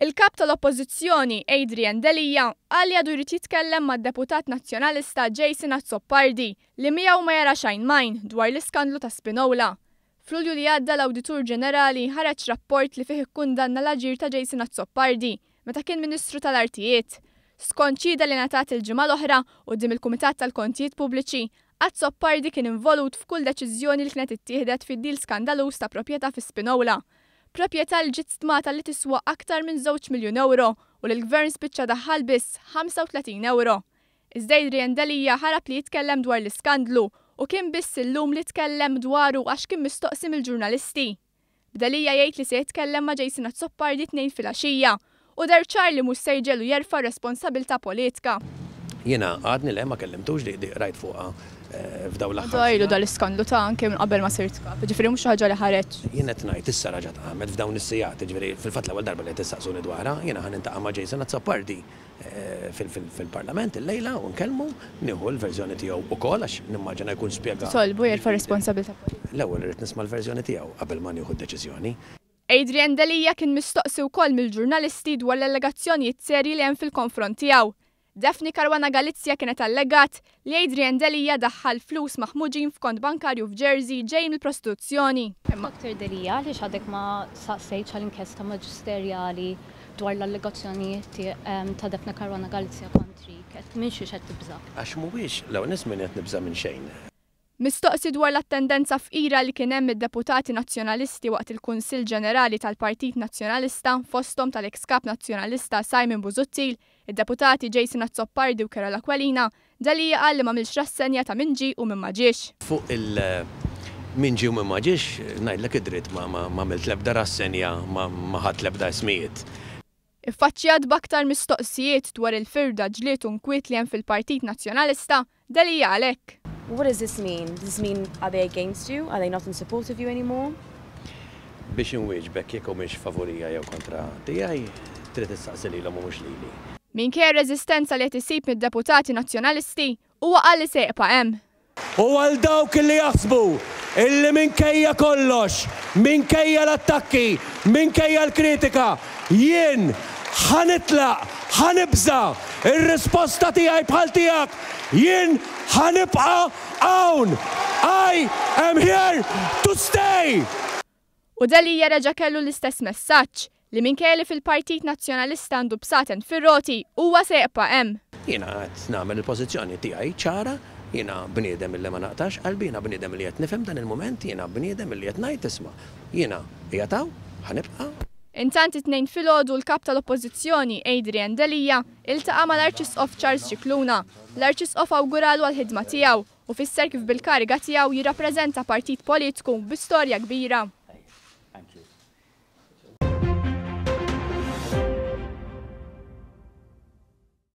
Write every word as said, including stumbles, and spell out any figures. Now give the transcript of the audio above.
Il-kap tal-Oppożizzjoni Adrian Delia qal li għadu jrid jitkellem mad-deputat Nazzjonalista Jason Azzopardi, li miegħu ma jara xejn majn dwar l-iskandlu ta' Spinola. F'Lulju li għadda, l-Awditur Ġenerali ħareġ rapport li fih ikkundanna l-aġir ta' Jason Azzopardi meta kien Ministru tal-Artijiet. Skont xhieda li ngħatat il-ġimgħa l-oħra quddiem il-Kumitat tal-Kontijiet Pubbliċi, Azzopardi kien involut f'kull deċiżjoni li kienet ittieħdet fid-deal skandaluż ta' proprjetà fi Spinola. Proprjetà li ġiet stmata li tiswa aktar minn żewġ miljun euro u li l-gvern spiċċa daħħal biss ħamsa u tletin euro. Iżda Adrian Delia ħarab li jitkellem dwar l-iskandlu u kien biss illum li tkellem dwaru għax kien mistoqsi mill-ġurnalisti. B'Delia jgħid li se jitkellem ma' Jason Azzopardi t-Tnejn filgħaxija u deher ċar li mhux se jġegħlu jerfa' responsabilità politika. Jiena għadni le ma kellimtux, di di rajt fuqha eh, f'dawn l-aħħar. Ilu dal-iskandlu ta' anke minn qabel ma sirt kap, ġifieri mhux ħaġa li ħareġ. Jien qed ngħid issa raġat qamet f'dawn is-sigħat, ġifieri fil-fatt l-ewwel darba li qed tistaqsuni dwarha. Jiena ħa niltaqa' ma' Jason Azzopardi eh, fil-Parlament illejla u nkellmu, nieħu l-verżjoni tiegħu ukoll għax nimmaġina jkun spjega. Tolbu jerfa' responsabilità politika. L-ewwel irid nisma' l-verżjoni tiegħu qabel ma nieħu d-deċiżjoni. Adrian Delia kien mistoqsi wkoll mill-ġurnalisti dwar l-allegazzjonijiet serji li hemm fil-konfront tiegħu. Daphne Caruana Galizia kienet allegat li Adrian Delia daħħal flus maħmuġin f'kont bankarju f'Jersey ġej mill-prostituzzjoni. Doktor Delia, li għadek ma saqsejtx għal-inkjesta maġisterjali dwar l-allegazzjonijiet ta' Daphne Caruana Galizia kontrik, qed minn xiex qed tibża'? Għax mhuwiex l nies minn qed nibża' minn xejn. Mistoqsi dwar l-attendenza fqira li kien hemm id-deputati nazzjonalisti waqt il-Kunsill Ġenerali tal-Partit Nazzjonalista, fosthom tal-ex kap nazzjonalista Simon Busuttil, id-deputati Jason Azzopardi u Karol Aquilina, Delia qal li m'għamilx rassenja ta' min ġie u min ma ġiex. Fuq il- min ġie u min ma ġiex, ngħidlek id-dritt, ma għamilt l-ebda rassenja, ma ħadt l-ebda ismijiet. Iffaċċjat b'aktar mistoqsijiet dwar il-firda, ġlied u nkwiet li hemm fil-Partit Nazzjonalista, Delia għalhekk. What does this mean? Does this mean, are they against you? Are they not in support of you anymore? Biex inwieġbek jekk humiex favorija jew kontra tiegħi, trid issaqsi lilhom u mhux lili. Minkejja reżistenza li qed isib mid-deputati nazzjonalisti, huwa qal li se jibqa' hemm. U għal dawk li jaħsbu illi minkejja kollox, minkejja l-attakki, minkejja l-kritika, jien ħa nitlaq, ħa nibża', ir-risposta tiegħi bħal tiegħek, jien ħa nibqa' hawn. I am here to stay! U Delia reġa' kellu l-istess messaġġ li minkejja li fil-Partit Nazzjonalista għandu bsaten fir-roti, huwa se jibqa' hemm. Jiena qed nagħmel il-pożizzjoni tiegħi ċara, jiena bniedem illi ma naqtax qalbi, jiena bniedem li qed nifhem dan il-mument, jiena bniedem illi qed ngħid, isma', jiena qiegħed hawn, ħa nibqa'. Intant, it-Tnejn filgħodu l-kap tal-Oppożizzjoni Adrian Delia iltaqa' mal-Arċisqof Charles Scicluna. L-Arċisqof awguralu għal-ħidma tiegħu u fisser kif bil-kariga tiegħu jirrappreżenta partit politiku bi storja kbira.